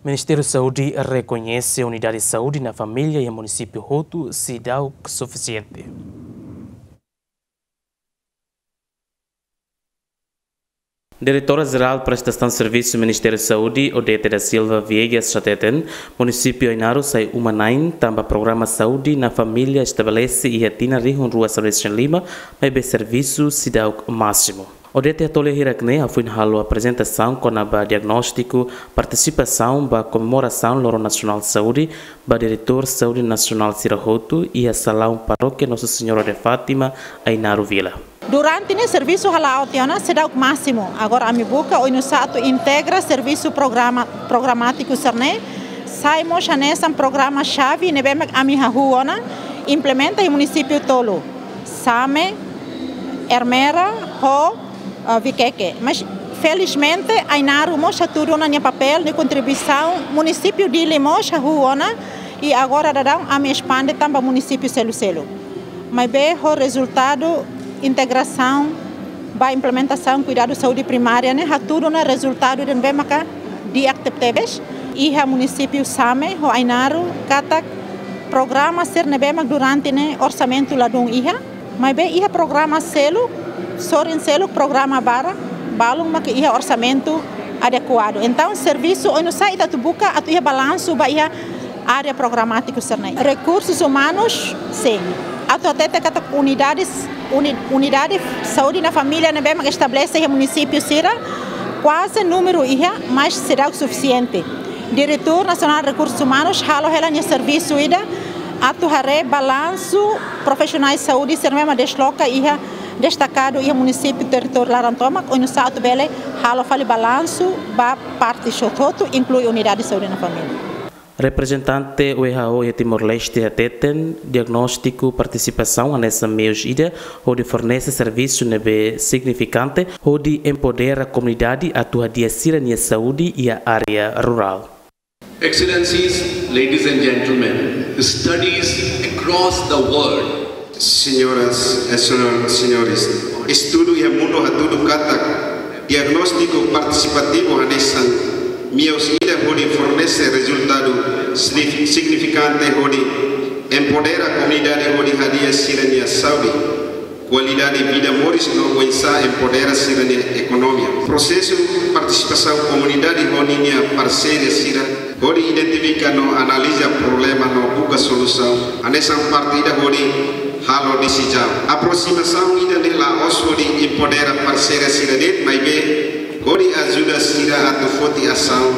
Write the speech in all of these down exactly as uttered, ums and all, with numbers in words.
Ministériu Saúde rekoñese unidade saúde na família iha munisípiu hotu seidauk sufisiente. Diretora Jerál Prestasaun Servisu Ministériu Saúde, Odete da Silva Viegas, hateten, munisípiu Ainaro sai uma-na'in tanba programa saúde na família estabelese iha tinan rihun rua sanulu-resin-lima, maibé servisu seidauk másimu. Odete hato'o lia hirak-ne'e hafoin halo aprezentasaun kona-ba diagnóstiku partisipasaun ba komemorasaun Loron Nasionál Saúde ba Diretór Saúde Nasionál sira hotu iha salaun Parókia Nossa Senhora de Fátima, Ainaro Vila. Durante ne'e servisu hala'o tiha ona seidauk másimu. Agora ami buka oinsá atu integra servisu programa, programátiku sira-ne'e. Sai mós hanesan programa xave ne'ebé mak ami hahú ona implementa iha munisípiu tolu. Same, Ermera, ho, ah, Viqueque. Mas, felizmente, Ainaro mós hatudu ona nia papél, nia kontribuisaun, munisípiu Dili mós hahú ona, i agora daudaun ami espande tan ba munisípiu seluk-seluk. Maibé, ho rezultadu integrasaun ba implementasaun kuidadu saúde primária ne'e, hatudu ona rezultadu ida ne'ebé maka di'ak tebetebes, iha munisípiu Same, ho Ainaro, katak programa sira ne'ebé mak durante ne'e orsamentu ladún iha, maibé iha programa seluk, sorin seluk programa barak, balun maka iha orsamentu adekuadu. Entaun, servisu oinsá ita atu buka, atu iha balansu ba iha área programátiku sira-ne'e. Rekursus umanus, sin. Atu hatete katak unidades, uni-, unidade saúde na família ne'ebé mak estabelese iha munisípiu sira, kuaze númeru iha, mas seidauk sufisiente. Diretór Nasionál Rekursus Umanus halo hela nia servisu ida atu haree balansu profisionais saúde sira ne'ebé mak desloka iha destakadu iha munisípiu territóriu laran tomak, oinsá atu bele halo fali balansu ba parte hotu-hotu, inklui unidade saúde na família. Reprezentante W H O iha Timor-Leste hateten, diagnóstiku partisipasaun hanesan meius ida hodi fornese servisu ne'ebé signifikante hodi empodera komunidade atu hadi'a sira-nia saúde iha área rurál. Excellencies, ladies and gentlemen, studies across the world. Senhoras e senhor-, senhores, estudu iha mundu hatudu katak diagnóstiku partisipativu hanesan meius ida hodi fornese rezultadu signif-, signifikante hodi empodera komunidade hodi hadi'a sira-nia saúde, kualidade vida moris no oinsá empodera sira-nia ekonomia. Prosesu partisipasaun komunidade ho ninia parseiru sira hodi identifika no analiza problema no buka solusaun hanesan parte ida hodi halo desizaun. Aprosimasaun ida-ne'e la'ós hodi empodera parseiru sira de'it, maibé hodi ajuda sira atu foti asaun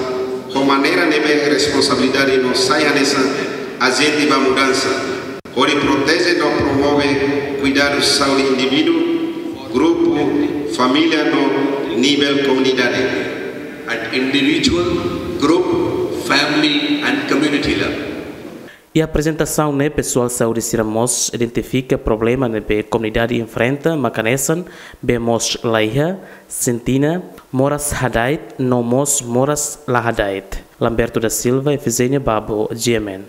ho maneira ne'ebé responsabilidade no sai hanesan ajente ba mudansa, hodi proteje no promove kuidadu saúde indivíduu, grupu, família no nivel komunidade. At individual, group, family and community level. Iha aprezentasaun ne'e pesoál saúde sira mós identifika problema ne'ebé komunidade enfrenta, mak hanesan bee moos laiha, sentina, moras hada'et, no mós moras la hada'et. Lamberto da Silva, Efigénia Babo, G M N.